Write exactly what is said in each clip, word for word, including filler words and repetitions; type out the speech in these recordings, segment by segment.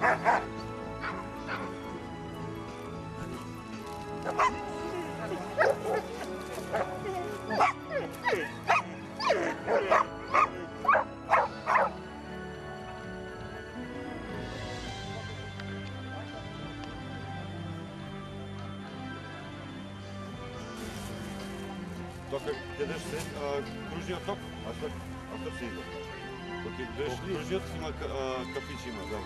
Тока гледаш се кружниот ток, а што а што се иде? Тока гледаш кружниот има кафичи има да во.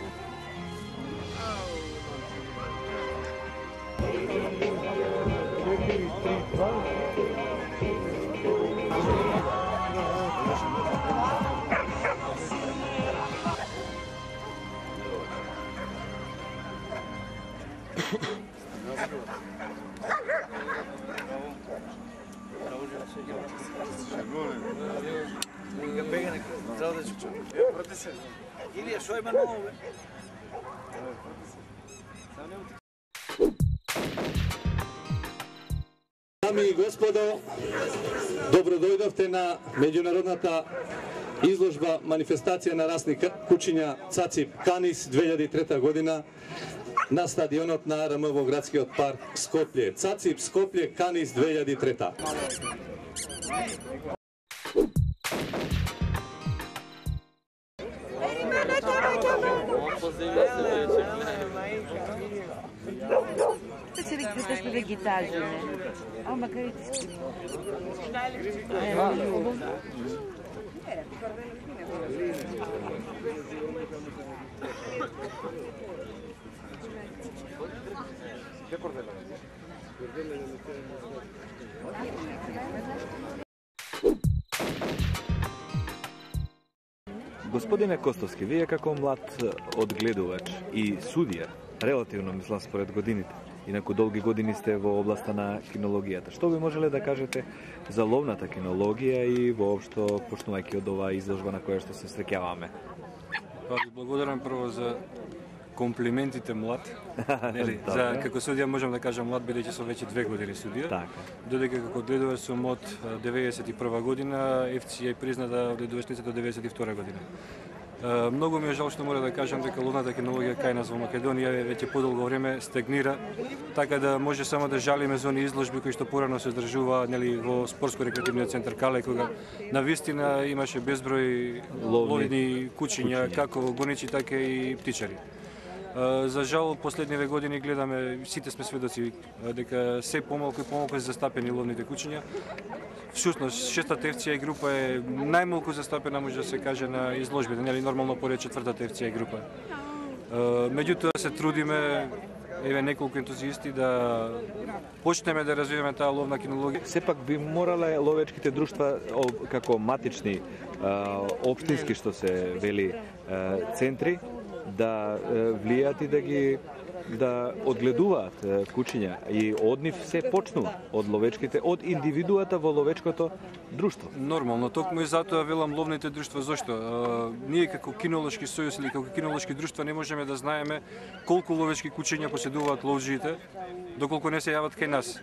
Илија, шо има ново, бе? Дами и господо, добро дојдовте на меѓународната изложба манифестација на расни кучиња Цацип Канис две илјади и трета година на стадионот на АРМ во градскиот парк Скопје. Цацип Скопје Канис две илјади и трета. Се ректе тоа што да ги тажиме. А макар и ти Господине Костовски, вие како млад одгледувач и судија, релативно мислам според годините, инаку долги години сте во областа на кинологијата. Што би можеле да кажете за ловната кинологија и воопшто почнувајќи од оваа изложба на која што се среќаваме? Па ви благодарам прво за комплиментите млад. Нели, за како судија можам да кажам млад бидејќи сум веќе две години судија. Така. Додека како одгледувач сум од деветдесет и прва година, Еф Си ја призна да одгледувачница до деветдесет и втора година. Многу ми е жал што мора да кажам дека ловната кинологија кај нас во Македонија веќе подолго време стагнира, така да може само да жалиме за оние изложби кои што порано се одржува, нели, во спортско-рекреативниот центар Кале, кога навистина имаше безброј ловни кучиња, како гоничи така и птичари. За жал, последниве години гледаме, сите сме сведоци дека се помалку и помалку се застапени ловните кучиња. Всушност, шестата Еф Си Ай група е најмалку застапена, може да се каже, на изложбите, нели нормално поред четвртата Еф Си Ай група. Меѓутоа се трудиме, еве неколку ентузијасти, да почнеме да развиваме таа ловна кинологија. Сепак би морале ловечките друштва како матични општински што се вели центри да влијат и да ги да одгледуваат кучиња и од нив се почнува од ловечките, од индивидуата во ловечкото друштво. Нормално, токму и затоа велам ловните друштва. Зошто? Ние како кинолошки сојуз или како кинолошки друштва не можеме да знаеме колку ловечки кучиња поседуваат ловџиите, доколку не се јават кај нас.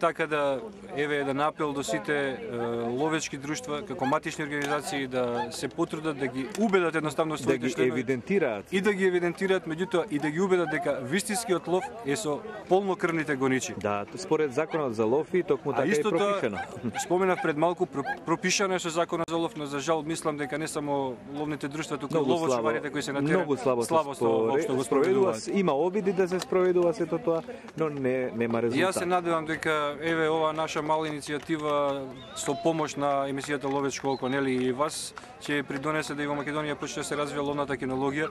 Така да, еве еден апел до сите е, ловечки друштва, како матични организации, да се потрудат да ги убедат едноставно своите да ги членови, евидентираат и да ги евидентираат, меѓутоа и да ги убедат дека вистинскиот лов е со полнокрвните гоничи. Да, според законот за лов и токму така е пропишано. Споменав пред малку, пропишано е со законот за лов, но за жал мислам дека не само ловните друштва, туку ловочуварите кои се на терен многу слабо, слабо спори, го спроведуваат. Има обиди да се спроведува сето тоа, но не нема резултат. Јас се надевам дека еве ова наша мала иницијатива со помош на емисијата Ловечко око, нели, и вас ќе придонесе да и во Македонија почне да се развива ловната кинологија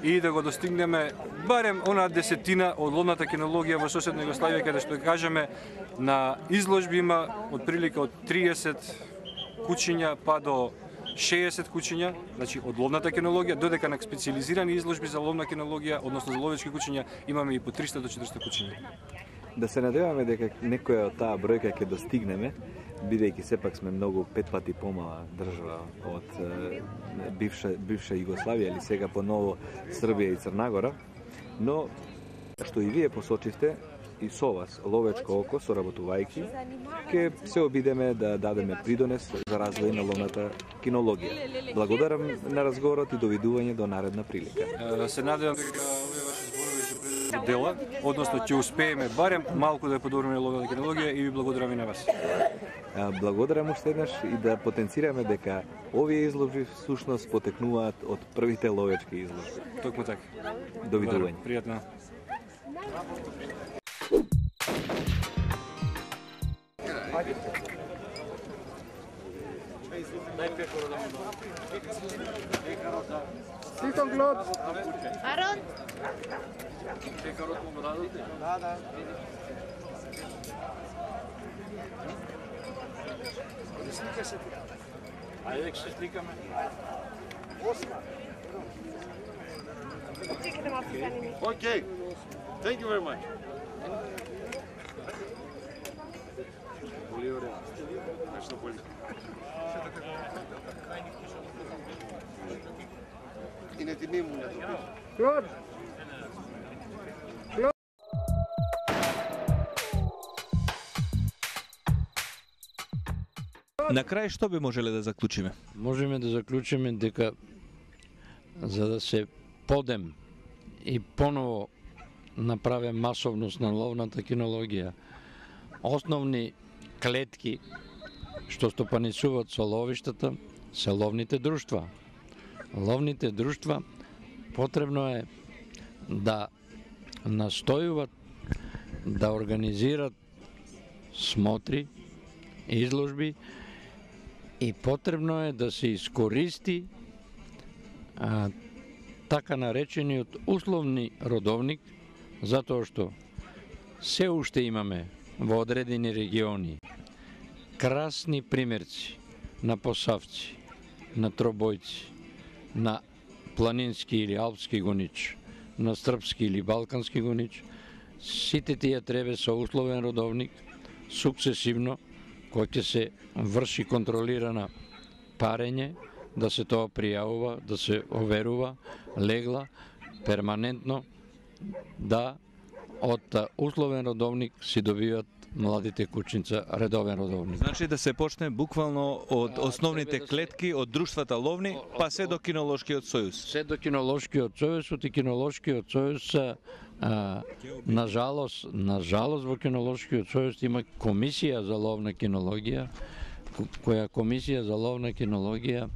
и да го достигнеме барем онаа десетина од ловната кинологија во соседна Југославија, каде што кажеме на изложби има од прилика од триесет кучиња па до шеесет кучиња, значи од ловната кинологија, додека на специјализирани изложби за ловна кинологија, односно за ловечки кучиња, имаме и по триста до четиристо кучиња. Да се надеваме дека некоја од таа бројка ќе достигнеме, бидејќи сепак сме многу пет пати помала држава од е, бивша, бивша Југославија или сега поново Србија и Црна Гора, но што и вие посочивте, и со вас, Ловечко око, соработувајќи, ќе се обидеме да дадеме придонес за развој на ловната кинологија. Благодарам на разговорот и довидување до наредна прилика. Е, Се надевам дека овие ваши зборови ќе предизвикаат дела, односно ќе успееме барем малку да ја подобриме ловната кинологија и ви благодарам и на вас. А, Благодарам уште еднаш и да потенцираме дека овие изложби всушност потекнуваат од првите ловечки изложби. Токму така. Довидување. Пријатно. Арон? Ајде, ќе се сликаме. Okay, thank you very much. Είναι τιμή μου να το πεις. На крај што би можеле да заклучиме? Можеме да заклучиме дека за да се подем и поново направе масовност на ловната кинологија, основни клетки што стопанисуваат со ловиштата се ловните друштва. Ловните друштва потребно е да настојуваат да организират смотри, изложби и потребно е да се искористи а, така наречениот условни родовник, затоа што се уште имаме во одредени региони красни примерци на посавци, на тробојци, на планински или алпски гонич, на српски или балкански гонич. Сите тие треба со условен родовник, сукцесивно, кој ќе се врши контролирана парење, да се тоа пријавува, да се оверува, легла, перманентно, да од условен родовник си добиват младите кучинца редовен родовник. Значи да се почне буквално од основните клетки, од друштвата ловни, па се до кинолошкиот сојуз. Се до кинолошкиот сојуз, и кинолошкиот сојуз, а, на жалост, на жалост во кинолошкиот сојуз има комисија за ловна кинологија, која комисија за ловна кинологија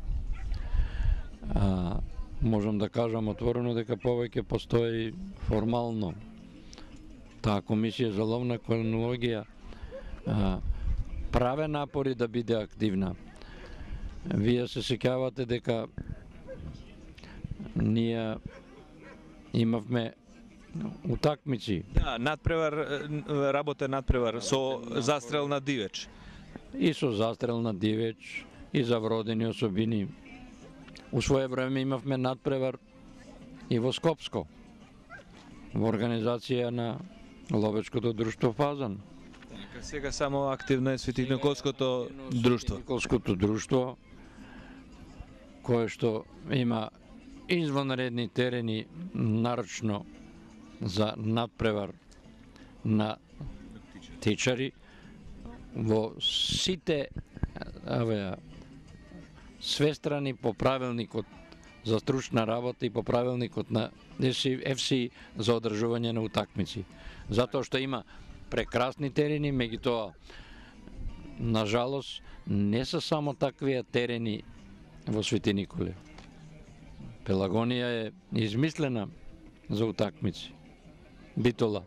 а, можам да кажам отворено дека повеќе постои формално. Таа комисија за ловна кинологија а, праве напори да биде активна. Вие се сеќавате дека ние имавме утакмици. Да, надпревар, работа надпревар со застрел на дивеч. И со застрел на дивеч, и за вродени особини. У свое време имавме надпревар и во Скопско, во организација на Ловечкото друштво Фазан. Сега само активно е Свети-Николското друштво. Свети-Николското друштво, кое што има извонредни терени нарочно за надпревар на тичари во сите аве, свестрани по правилникот за стручна работа и по правилникот на еф си за одржување на утакмици. Затоа што има прекрасни терени, меѓутоа, на жалост, не се само таквија терени во Свети Николе. Пелагонија е измислена за утакмици. Битола,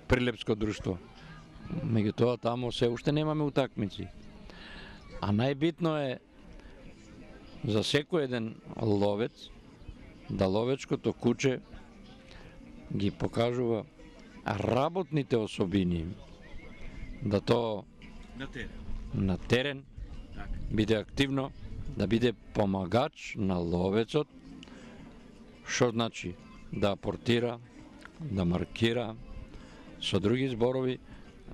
Прилепско друштво. Меѓутоа, таму се уште немаме утакмици. А најбитно е за секој еден ловец да ловечкото куче ги покажува работните особини, да тоа на терен, на терен биде активно, да биде помагач на ловецот, што значи да апортира, да маркира, со други зборови,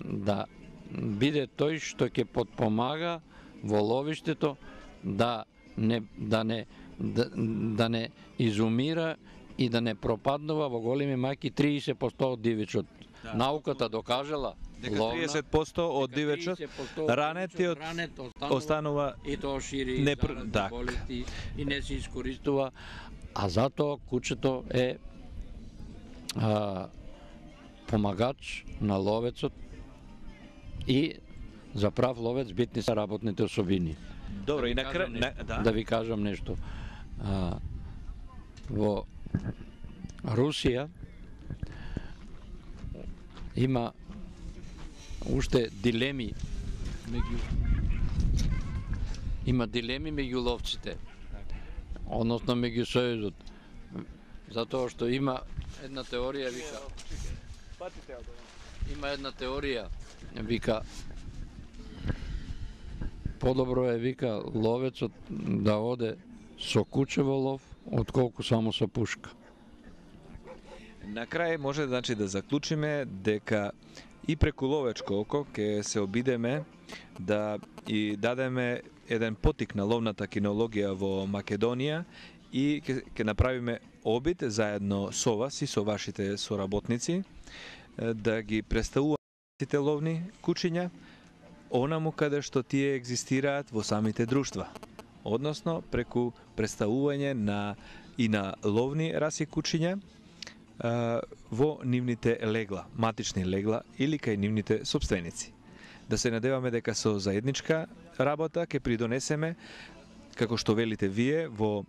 да биде тој што ќе потпомага во ловиштето да не да не да, да не изумира и да не пропаднува во големи мајки триесет на сто од дивечот науката докажала дека ловна, триесет проценти од дека дивечот тридесет проценти ранетиот ранет останува, останува и тоа шири не не, пр- заразни так. болести и не се искористува, а затоа кучето е а, помагач на ловецот и за прав ловец битни се работните особини. Добро, и Да на ви крај кажам на, нешто, да. да ви кажам нешто. А, во Русија има уште дилеми меѓу има дилеми меѓу ловците, односно меѓу сојузот, затоа што има една теорија вика има една теорија вика подобро е вика ловецот да оде со куче во лов отколку само со пушка. На крај може значи да заклучиме дека и преку ловечко око ќе се обидеме да и дадеме еден потик на ловната кинологија во Македонија и ќе ќе направиме обид заедно со вас и со вашите соработници е, да ги представуваме сите ловни кучиња онаму каде што тие екзистираат во самите друштва, односно преку представување на и на ловни раси кучиња а, во нивните легла, матични легла или кај нивните собственици. Да се надеваме дека со заедничка работа ќе придонесеме, како што велите вие, во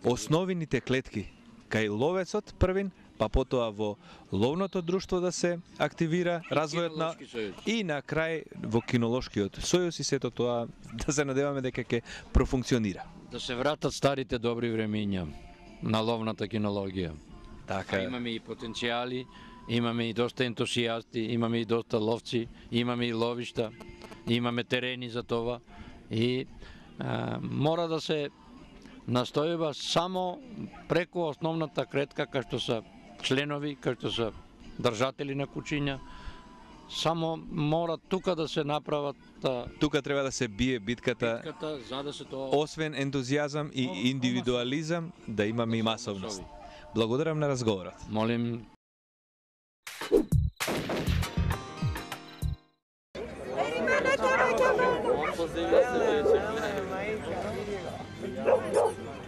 основните клетки кај ловецот првин, па потоа во ловното друштво да се активира развојот на Кинолошки сојуз. и на крај во кинолошкиот сојуз и сето тоа да се надеваме дека ќе профункционира. Да се вратат старите добри времиња на ловната кинологија. Така А е. имаме и потенцијали, имаме и доста ентусијасти, имаме и доста ловци, имаме и ловишта, имаме терени за това и а, мора да се настојува само преку основната клетка кај што се членови, кај што се држатели на кучиња, само мора тука да се направат а, Тука треба да се бие битката, битката за да се тоа освен ентузијазам и индивидуализам, да имаме и масовност. Благодарам на разговорот. молим.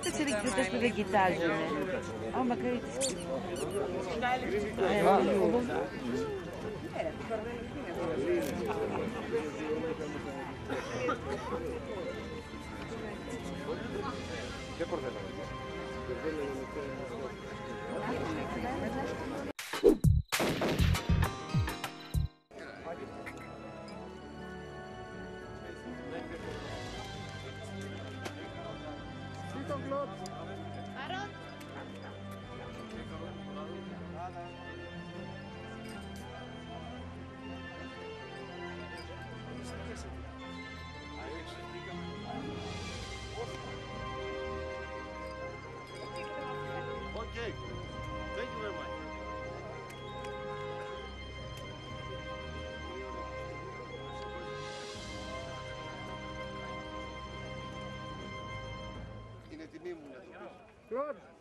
Те се риквате што да ги тажиме. А макар и Okay. Thank you very much. Είναι τιμή μου να το πεις.